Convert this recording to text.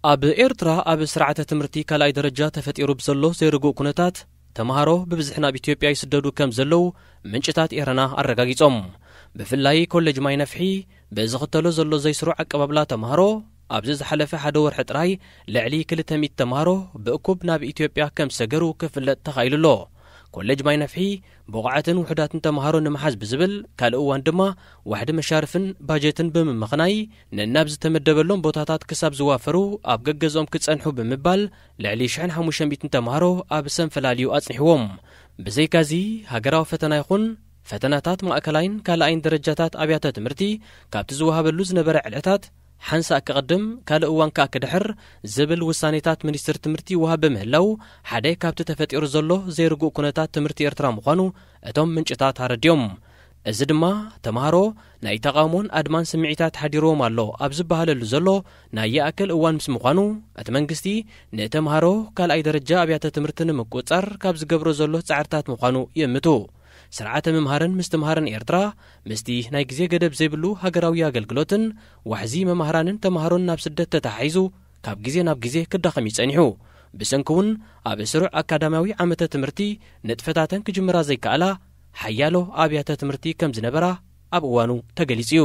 ኣብ ኤርትራ ኣብ ስርዓተ ትምህርቲ ካልኣይ ደረጃ ተፈጢሩ ብዘሎ ዘይርጉእ ኩነታት፣ ተምሃሮ ብብዝሒ ናብ ኢትዮጵያ ይስደዱ ከም ዘለዉ ምንጭታት ኤረና ኣረጋጊጾም። ብፍላይ ኮሌጅ ማይ ነፍሒ ብዝኽተሎ ዘሎ ዘይስሩዕ ኣቀባብላ ተምሃሮ፣ ኣብዚ ዝሓለፈ ሓደ ወርሒ ጥራይ ልዕሊ ክልተ ሚእቲ ተምሃሮ ብእኩብ ናብ ኢትዮጵያ ከም ዝሰገሩ ክፍለጥ ተኻኢሉ ኣሎ። ኮሌጅ ማይ ነፍሒ ብቑዓትን ውሑዳትን ተምሃሮ ንምሓዝ ብዝብል፣ ካልእ እዋን ድማ ዋሕዲ መሻርፍን ባጀትን ብምምኽናይ፣ ነናብ ዝተመደበሎም ቦታታት ክሳብ ዝዋፈሩ ኣብ ገገዝኦም ክጸንሑ ብምባል፣ ልዕሊ ሽሕን ሓሙሽተ ሚእትን ተምሃሮ ኣብ ሰንፈላልዩ ኣጽኒሕዎም። ብዘይካዚ፣ ሃገራዊ ፈተና ይኹን ፈተናታት ማእከላይን ካልኣይን ደረጃታት ኣብያተ ትምህርቲ ካብቲ ዝወሃበሉ ዝነበረ ዕለታት ሓንሳእ ክቕድም፣ ካልእ እዋን ከኣ ክድሕር ዝብል ውሳኔታት ሚኒስትሪ ትምህርቲ ይወሃብ ብምህላው፣ ሓደ ካብቲ ተፈጢሩ ዘሎ ዘይርጉእ ኩነታት ትምህርቲ ኤርትራ ምዃኑ እቶም ምንጭታት ኣረድዮም። እዚ ድማ ተምሃሮ ናይ ተቓውሞን ኣድማን ስምዒታት ሓዲርዎም ኣሎ ኣብ ዝበሃለሉ ዘሎ ናይ ይኣክል እዋን ምስ ምዃኑ፣ እቲ መንግስቲ ንተምሃሮ ካልኣይ ደረጃ ኣብያተ ትምህርቲ ንምቁጽጻር ካብ ዝገብሮ ዘሎ ጻዕርታት ምዃኑ ይእምቱ። ስርዓተ ምምሃርን ምስትምሃርን ኤርትራ ምስቲ ናይ ግዜ ገደብ ዘይብሉ ሃገራዊ ኣገልግሎትን ዋሕዚ መማህራንን ተምሃሮን ናብ ስደት ተተሓሒዙ ካብ ግዜ ናብ ግዜ ክዳኸም እዩ ጸኒሑ። ብሰንኪ እውን ኣብ ስሩዕ ኣካዳሚያዊ ዓመተ ትምህርቲ ንጥፈታተን ክጅምራ ዘይከኣላ ሓያሎ ኣብያተ ትምህርቲ ከም ዝነበራ ኣብ እዋኑ ተገሊጹ እዩ።